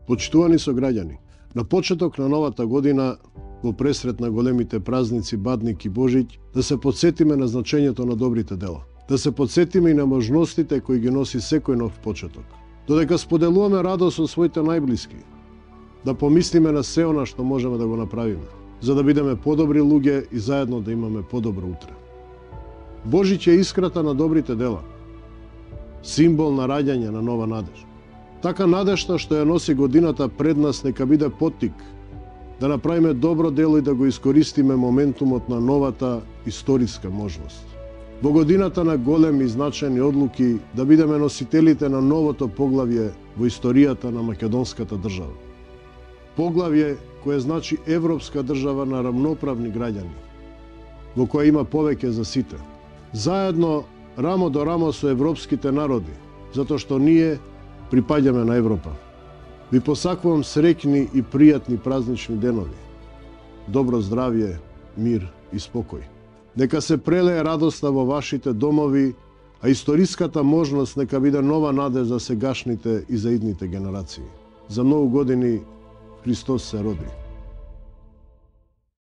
Почитувани сограѓани, на почеток на новата година, во пресрет на големите празници Бадник и Божиќ, да се потсетиме на значењето на добрите дела. Да се потсетиме и на можностите кои ги носи секој нов почеток. Додека споделуваме радост со своите најблиски, да помислиме на се она што можеме да го направиме, за да бидеме подобри луѓе и заедно да имаме подобро утре. Божиќ е искрата на добрите дела, символ на раѓање на нова надеж. Така надежта што ја носи годината пред нас нека биде поттик да направиме добро дело и да го искористиме моментумот на новата историска можност. Во годината на големи и значајни одлуки да бидеме носителите на новото поглавје во историјата на македонската држава. Поглавје кое значи европска држава на рамноправни граѓани, во која има повеќе за сите. Заедно, рамо до рамо со европските народи, затоа што ние припаѓаме на Европа. Ви посакувам среќни и пријатни празнични денови. Добро здравје, мир и спокој. Нека се прелее радоста во вашите домови, а историската можност нека биде нова надеж за сегашните и за идните генерации. За многу години Христос се роди.